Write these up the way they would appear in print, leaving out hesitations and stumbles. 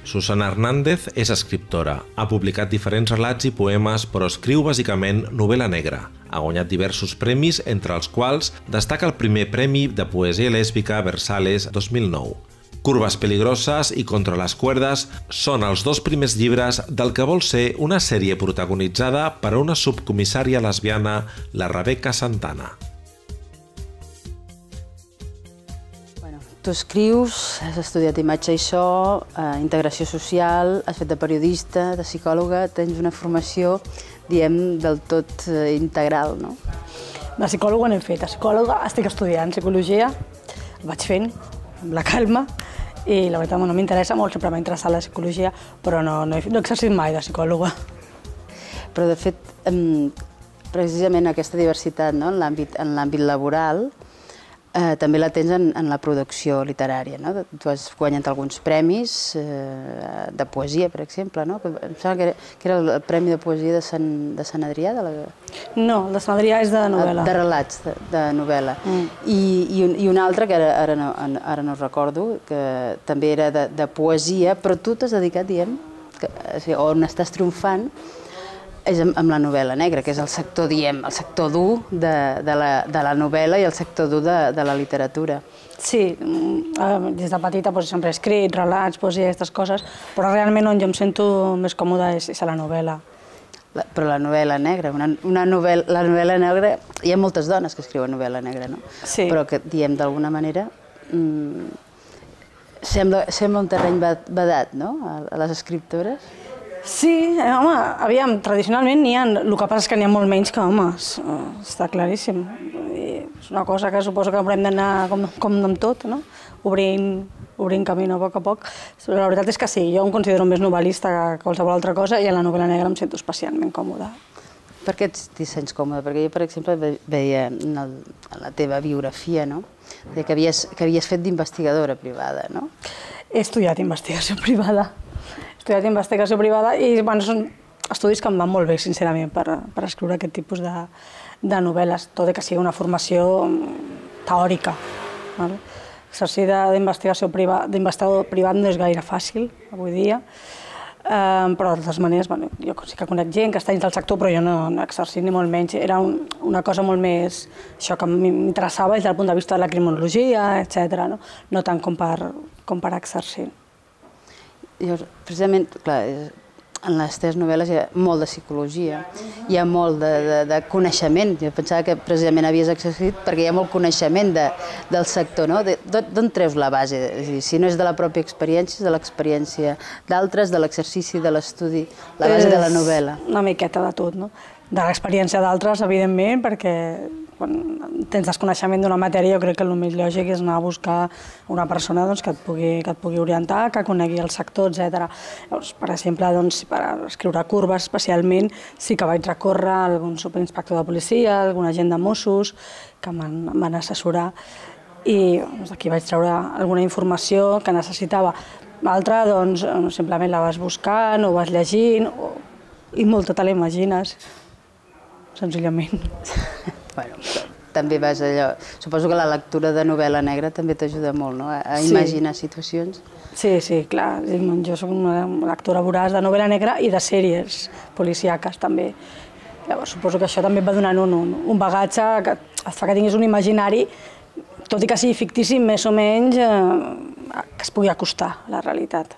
Susana Hernández és escriptora, ha publicat diferents relats i poemes, però escriu bàsicament novel·la negra. Ha guanyat diversos premis, entre els quals destaca el primer premi de poesia lèsbica Versales 2009. Curvas peligrosas i Contra les cuerdas són els dos primers llibres del que vol ser una sèrie protagonitzada per una subcomissària lesbiana, la Rebeca Santana. Tu escrius, has estudiat imatge i so, integració social, has fet de periodista, de psicòloga, tens una formació, diem, del tot integral, no? De psicòloga no he fet, de psicòloga estic estudiant psicologia, ho vaig fent amb la calma i la veritat no m'interessa molt, sempre m'ha interessat la psicologia, però no he exercit mai de psicòloga. Però de fet, precisament aquesta diversitat en l'àmbit laboral també la tens en la producció literària. Tu has guanyat alguns premis de poesia, per exemple. Em sembla que era el Premi de Poesia de Sant Adrià? No, el de Sant Adrià és de novel·la. De relats, de novel·la. I un altre, que ara no recordo, que també era de poesia, però tu t'has dedicat, diguem, on estàs triomfant, és amb la novel·la negra, que és el sector, diem, el sector dur de la novel·la i el sector dur de la literatura. Sí, des de petita sempre he escrit relats, poesia, aquestes coses, però realment on jo em sento més còmoda és a la novel·la. Però la novel·la negra, la novel·la negra, hi ha moltes dones que escriuen novel·la negra, no? Sí. Però que, diem, d'alguna manera, sembla un terreny vedat, no?, a les escriptores. Sí, home, aviam, tradicionalment n'hi ha, el que passa és que n'hi ha molt menys que homes, està claríssim. És una cosa que suposo que haurem d'anar com amb tot, no? Obrint camí a poc. La veritat és que sí, jo em considero més novel·lista que qualsevol altra cosa i en la novel·la negra em sento especialment còmoda. Per què t'hi sents còmoda? Perquè jo, per exemple, veia en la teva biografia, no?, que havies fet d'investigadora privada, no? He estudiat investigació privada. He estudiat investigació privada i són estudis que em van molt bé, sincerament, per escriure aquest tipus de novel·les, tot i que sigui una formació teòrica. Exercir d'investigador privat no és gaire fàcil, avui dia, però de totes maneres, jo sí que conec gent que està dins del sector, però jo no he exercit ni molt menys. Era una cosa molt més, això que m'interessava des del punt de vista de la criminologia, etc., no tant com per exercir. Precisament, clar, en les teves novel·les hi ha molt de psicologia, hi ha molt de coneixement. Jo pensava que precisament havies exercit perquè hi ha molt coneixement del sector, no? D'on treus la base? És a dir, si no és de la pròpia experiència, és de l'experiència d'altres, de l'exercici, de l'estudi, la base de la novel·la. Una miqueta de tot, no? De l'experiència d'altres, evidentment, perquè quan tens desconeixement d'una matèria jo crec que el més lògic és anar a buscar una persona que et pugui orientar, que conegui el sector, etc. Per exemple, per escriure curves especialment sí que vaig recórrer a algun superinspector de policia, a algun agent de Mossos que em van assessorar i d'aquí vaig treure alguna informació que necessitava. L'altra, simplement la vas buscant o vas llegint i molta te la imagines, senzillament. Bueno, també vas allò... Suposo que la lectura de novel·la negra també t'ajuda molt, no?, a imaginar situacions. Sí, clar. Jo soc una lectora voraç de novel·la negra i de sèries policíaques, també. Llavors, suposo que això també et va donant un bagatge que et fa que tinguis un imaginari, tot i que sigui fictici, més o menys, que es pugui acostar a la realitat.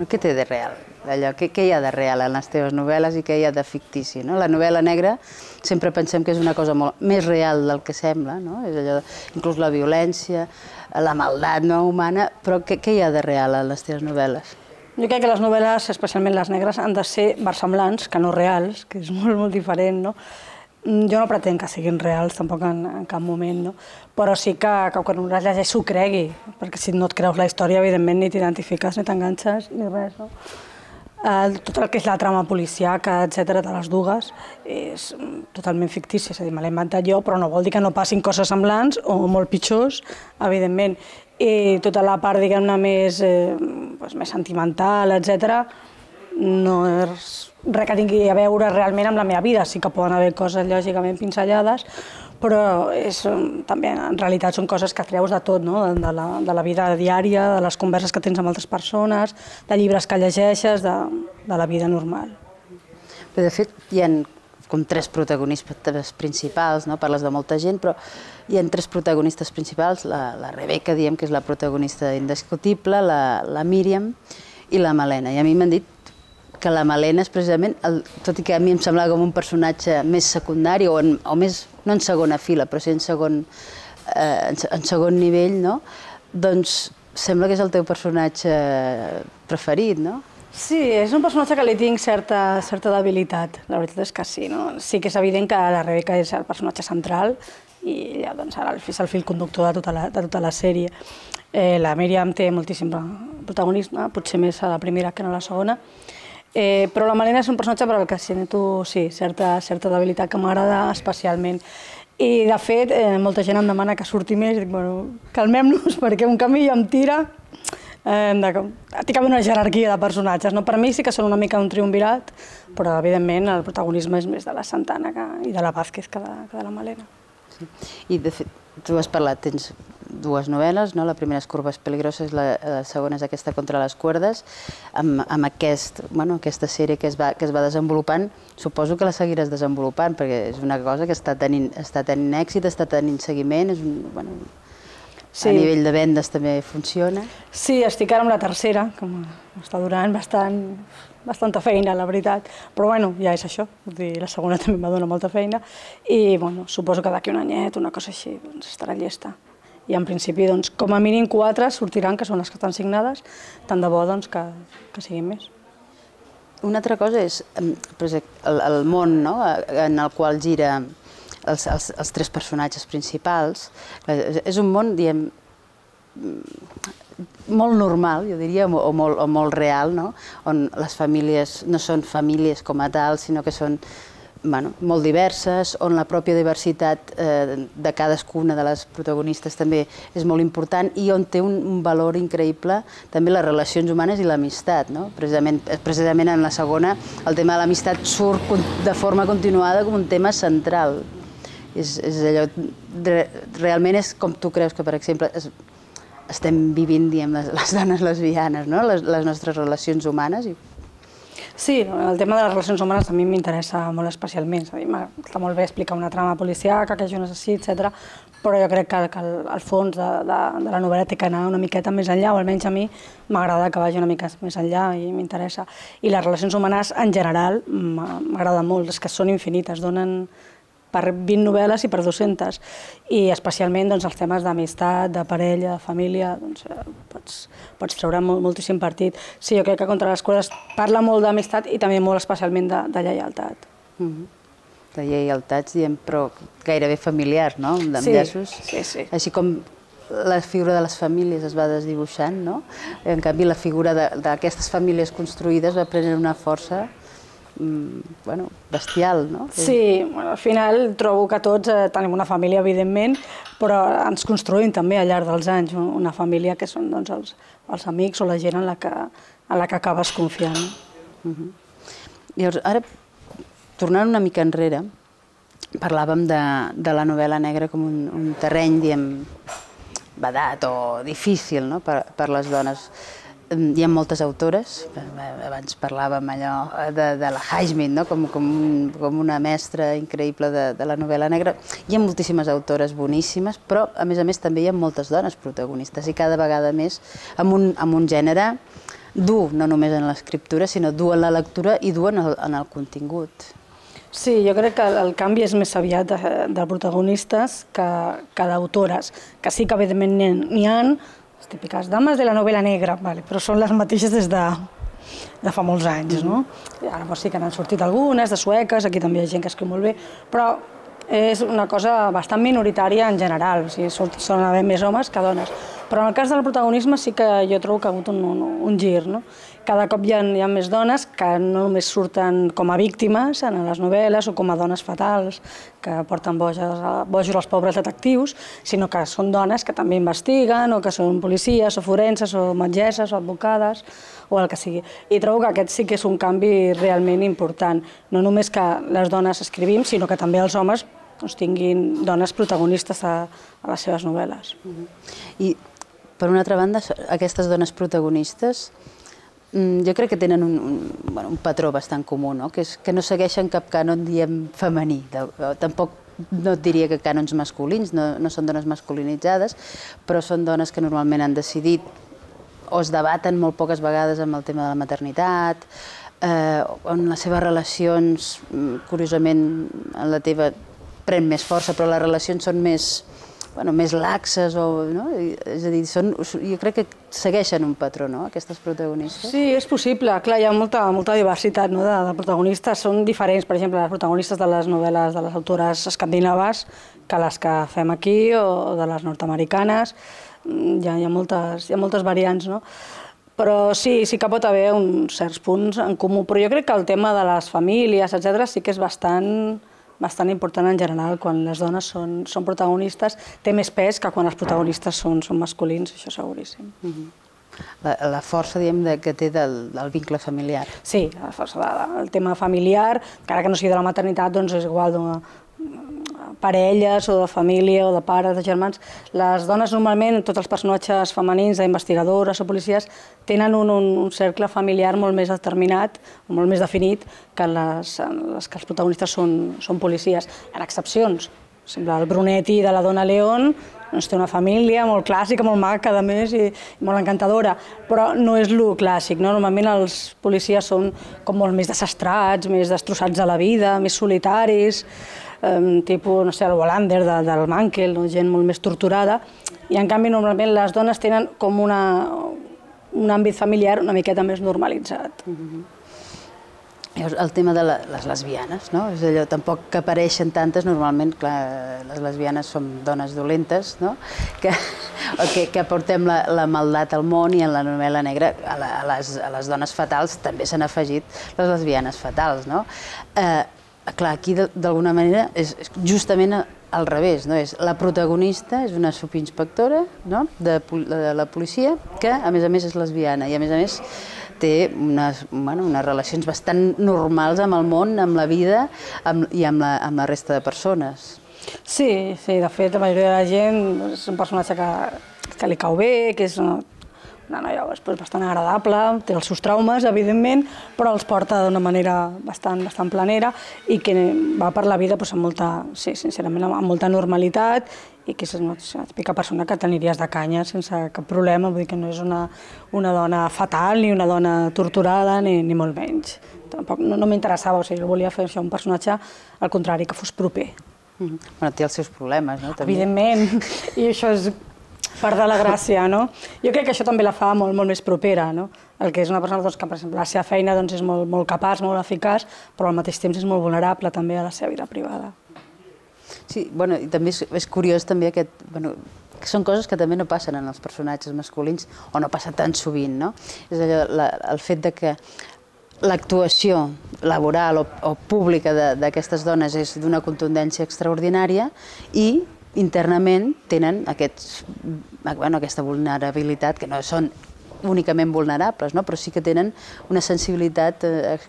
Què té de real? Què hi ha de real en les teves novel·les i què hi ha de fictici? La novel·la negra sempre pensem que és una cosa molt més real del que sembla, és allò, inclús la violència, la maldat humana, però què hi ha de real en les teves novel·les? Jo crec que les novel·les, especialment les negres, han de ser versemblants, que no reals, que és molt diferent, no? Jo no pretenc que siguin reals, tampoc en cap moment, però sí que quan un les llegeix s'ho cregui, perquè si no et creus la història, evidentment, ni t'identifiques, ni t'enganxes, ni res. Tot el que és la trama policíaca, etc., de les dues, és totalment fictícia, és a dir, me l'he inventat jo, però no vol dir que no passin coses semblants o molt pitjors, evidentment. I tota la part, diguem-ne, més sentimental, etc., no és res que tingui a veure realment amb la meva vida. Sí que poden haver coses lògicament pinzellades, però també en realitat són coses que treus de tot, de la vida diària, de les converses que tens amb altres persones, de llibres que llegeixes, de la vida normal. De fet, hi ha com tres protagonistes principals, parles de molta gent, però hi ha tres protagonistes principals, la Rebeca, diem que és la protagonista indiscutible, la Míriam i la Malena. I a mi m'han dit que la Malena és precisament, tot i que a mi em semblava com un personatge més secundari, o més, no en segona fila, però sí en segon nivell, doncs sembla que és el teu personatge preferit, no? Sí, és un personatge que li tinc certa debilitat, la veritat és que sí. Sí que és evident que la Rebeca és el personatge central i ja ara és el fil conductor de tota la sèrie. La Míriam té moltíssim protagonisme, potser més a la primera que no a la segona, però la Malena és un personatge per al que sento certa debilitat que m'agrada especialment. I, de fet, molta gent em demana que surti més i dic, bueno, calmem-nos perquè un camí em tira. Té una jerarquia de personatges. Per mi sí que són una mica un triumvirat, però evidentment el protagonisme és més de la Santana i de la Vázquez que de la Malena. I de fet, tu has parlat, tens dues novel·les, la primera és Curvas Peligroses, la segona és aquesta Contra les cuerdes. Amb aquesta sèrie que es va desenvolupant, suposo que la seguiràs desenvolupant, perquè és una cosa que està tenint èxit, està tenint seguiment, a nivell de vendes també funciona. Sí, estic ara amb la tercera, que m'està donant bastanta feina, la veritat, però bueno, ja és això, la segona també em dona molta feina i suposo que d'aquí un anyet, una cosa així, estarà llesta. I en principi, com a mínim 4 sortiran, que són les que estan signades, tant de bo que siguin més. Una altra cosa és el món en el qual gira els tres personatges principals. És un món, diguem, molt normal, jo diria, o molt real, on les famílies no són famílies com a tal, sinó que són molt diverses, on la pròpia diversitat de cadascuna de les protagonistes també és molt important i on té un valor increïble també les relacions humanes i l'amistat. Precisament en la segona el tema de l'amistat surt de forma continuada com un tema central. Realment és com tu creus que, per exemple, estem vivint, diguem, les dones lesbianes, les nostres relacions humanes. Sí, el tema de les relacions humanes a mi m'interessa molt especialment. Està molt bé explicar una trama policíaca, que jo necessito, etc. Però jo crec que el fons de la novel·la té que anar una miqueta més enllà, o almenys a mi m'agrada que vagi una mica més enllà i m'interessa. I les relacions humanes, en general, m'agraden molt, és que són infinites, donen per 20 novel·les i per 200. I especialment els temes d'amistat, de parella, de família, pots treure moltíssim partit. Sí, jo crec que Contra les cuerdes parla molt d'amistat i també molt especialment de lleialtat. De lleialtats, diem, però gairebé familiars, no? Sí. Així com la figura de les famílies es va desdibuixant, no? En canvi, la figura d'aquestes famílies construïdes va prenent una força bestial, no? Sí, al final trobo que tots tenim una família, evidentment, però ens construïm també al llarg dels anys una família que són els amics o la gent en la que acabes confiant. Llavors, ara, tornant una mica enrere, parlàvem de la novel·la negra com un terreny, diguem, vedat o difícil per les dones. Hi ha moltes autores, abans parlàvem allò de la Highsmith, com una mestra increïble de la novel·la negra. Hi ha moltíssimes autores boníssimes, però a més també hi ha moltes dones protagonistes i cada vegada més amb un gènere dur, no només en l'escriptura, sinó dur en la lectura i dur en el contingut. Sí, jo crec que el canvi és més aviat de protagonistes que d'autores, que sí que evidentment n'hi ha, les típiques dames de la novel·la negra, però són les mateixes des de fa molts anys. Ara sí que n'han sortit algunes, de sueques, aquí també hi ha gent que escriu molt bé, però és una cosa bastant minoritària en general, solen haver més homes que dones. Però en el cas del protagonisme sí que jo trobo que ha hagut un gir. Cada cop hi ha més dones que no només surten com a víctimes en les novel·les o com a dones fatals que porten bojos als pobres detectius, sinó que són dones que també investiguen o que són policies o forenses o metgesses o advocades o el que sigui. I trobo que aquest sí que és un canvi realment important. No només que les dones escrivim, sinó que també els homes tinguin dones protagonistes a les seves novel·les. I, per una altra banda, aquestes dones protagonistes jo crec que tenen un patró bastant comú, que no segueixen cap cànon, diem, femení. Tampoc no et diria que cànons masculins, no són dones masculinitzades, però són dones que normalment han decidit o es debaten molt poques vegades amb el tema de la maternitat, on les seves relacions, curiosament, en la teva pren més força, però les relacions són més laxes, és a dir, jo crec que segueixen un patró, aquestes protagonistes. Sí, és possible. Clar, hi ha molta diversitat de protagonistes. Són diferents, per exemple, les protagonistes de les novel·les de les autores escandinaves que les que fem aquí o de les nord-americanes. Hi ha moltes variants, no? Però sí que pot haver uns certs punts en comú. Però jo crec que el tema de les famílies, etc., sí que és bastant important en general. Quan les dones són protagonistes, té més pes que quan els protagonistes són masculins, això seguríssim. La força, diguem, que té del vincle familiar. Sí, la força del tema familiar, encara que no sigui de la maternitat, doncs és igual de parelles o de família o de pares, de germans. Les dones normalment, tots els personatges femenins, d'investigadores o policies, tenen un cercle familiar molt més determinat, molt més definit que que els protagonistes són policies. Hi ha excepcions. El Brunetti de la Dona León té una família molt clàssica, molt maca, a més, i molt encantadora, però no és el clàssic. Normalment els policies són com molt més desastrats, més destrossats de la vida, més solitaris, tipus, no sé, el Wallander del Mankell, gent molt més torturada, i en canvi normalment les dones tenen com un àmbit familiar una miqueta més normalitzat. El tema de les lesbianes, no? És allò, tampoc que apareixen tantes, normalment, clar, les lesbianes som dones dolentes, no? Que portem la maldat al món, i en la novel·la negra a les dones fatals també s'han afegit les lesbianes fatals, no? Clar, aquí d'alguna manera és justament al revés, no? La protagonista és una subinspectora de la policia que a més és lesbiana i a més té unes relacions bastant normals amb el món, amb la vida i amb la resta de persones. Sí, de fet la majoria de la gent és un personatge que li cau bé, que és una noia bastant agradable, té els seus traumes, evidentment, però els porta d'una manera bastant planera i que va per la vida sincerament amb molta normalitat, i que és una típica persona que t'aniries de canya sense cap problema. Vull dir que no és una dona fatal ni una dona torturada ni molt menys. Tampoc no m'interessava, jo volia fer un personatge al contrari, que fos proper. Té els seus problemes, no? Evidentment, i això és part de la gràcia, no? Jo crec que això també la fa molt més propera, no? El que és una persona que, per exemple, la seva feina és molt capaç, molt eficaç, però al mateix temps és molt vulnerable també a la seva vida privada. Sí, i també és curiós també que són coses que també no passen en els personatges masculins, o no passa tan sovint, no? És allò, el fet que l'actuació laboral o pública d'aquestes dones és d'una contundència extraordinària i internament tenen aquesta vulnerabilitat, que no són únicament vulnerables, però sí que tenen una sensibilitat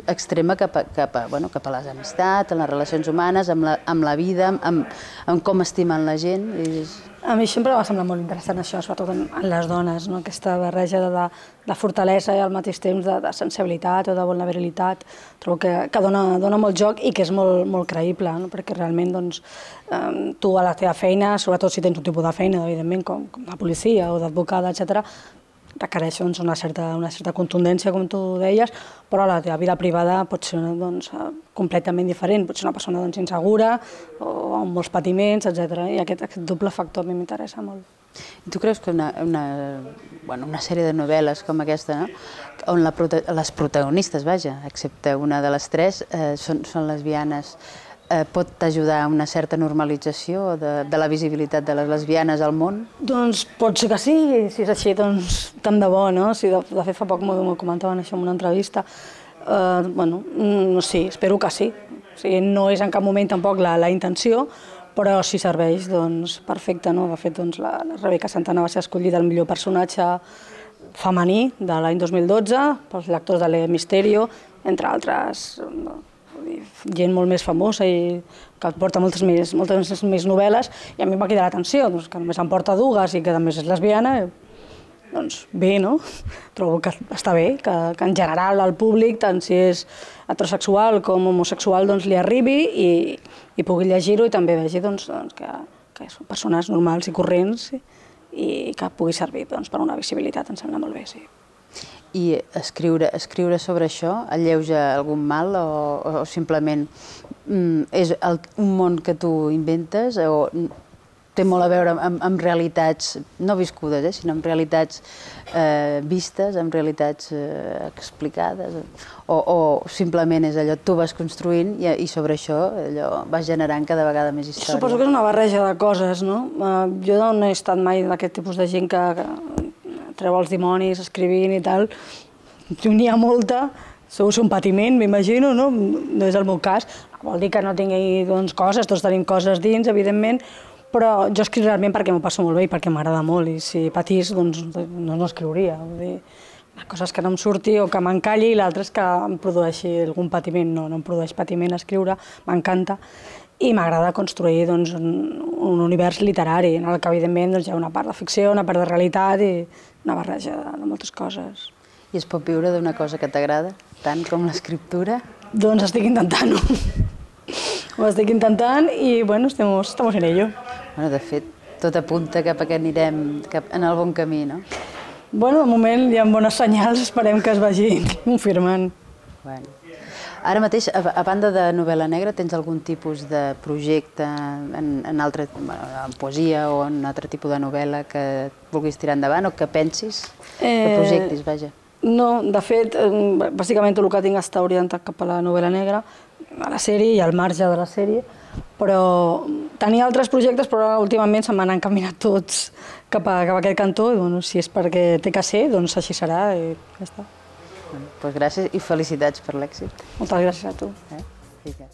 extrema cap a les amistats, a les relacions humanes, amb la vida, amb com estimen la gent. A mi sempre m'ha semblat molt interessant això, sobretot en les dones, aquesta barreja de fortalesa i al mateix temps de sensibilitat o de vulnerabilitat. Trobo que dona molt joc i que és molt creïble, perquè realment tu a la teva feina, sobretot si tens un tipus de feina, evidentment, com la policia o d'advocada, etc., requereix una certa contundència, com tu deies, però la teva vida privada pot ser completament diferent. Pot ser una persona insegura o amb molts patiments, etc. I aquest doble factor a mi m'interessa molt. I tu creus que una sèrie de novel·les com aquesta, on les protagonistes, excepte una de les tres, són lesbianes, pot ajudar a una certa normalització de la visibilitat de les lesbianes al món? Doncs pot ser que sí, si és així, doncs tant de bo, no? De fet, fa poc m'ho comentaven això en una entrevista. Sí, espero que sí. No és en cap moment tampoc la intenció, però si serveix, doncs perfecte, no? De fet, la Rebeca Santana va ser escollida el millor personatge femení de l'any 2012 pels lectors de l'E Misterio, entre altres gent molt més famosa i que porta moltes més novel·les, i a mi em va cridar l'atenció, doncs, que només em porta dues i que a més és lesbiana, doncs bé, no? Trobo que està bé, que en general al públic, tant si és heterosexual com homosexual, doncs li arribi i pugui llegir-ho i també vegi que són persones normals i corrents i que pugui servir per una visibilitat, em sembla molt bé, sí. I escriure sobre això alleuja algun mal o simplement és un món que tu inventes o té molt a veure amb realitats no viscudes, sinó amb realitats vistes, amb realitats explicades, o simplement és allò, tu vas construint i sobre això vas generant cada vegada més història? Suposo que és una barreja de coses, no? Jo no he estat mai d'aquest tipus de gent que treu els dimonis escrivint i tal. N'hi ha molta, segur un patiment, m'imagino, no? No és el meu cas. Vol dir que no tingui coses, tots tenim coses dins, evidentment, però jo escric realment perquè m'ho passo molt bé i perquè m'agrada molt, i si patís, doncs no escriuria. Vull dir, coses que no em surti o que m'encalli, i l'altre és que em produeixi algun patiment. No em produeix patiment escriure, m'encanta, i m'agrada construir un univers literari, en el que evidentment hi ha una part de ficció, una part de realitat i una barreja de moltes coses. I es pot viure d'una cosa que t'agrada, tant com l'escriptura? Doncs estic intentant-ho. Ho estic intentant i, bueno, estamos en ello. Bueno, de fet, tot apunta cap a que anirem en el bon camí, no? Bueno, de moment hi ha bones senyals, esperem que es vagin confirmant. Bueno. Ara mateix, a banda de novel·la negra, tens algun tipus de projecte en poesia o en altre tipus de novel·la que vulguis tirar endavant o que pensis, que projectis, vaja? No, de fet, bàsicament tot el que tinc està orientat cap a la novel·la negra, a la sèrie i al marge de la sèrie, però tenia altres projectes, però últimament se m'han encaminat tots cap a aquest cantó, i si és perquè té que ser, doncs així serà i ja està. Doncs gràcies i felicitats per l'èxit. Moltes gràcies a tu. Vinga.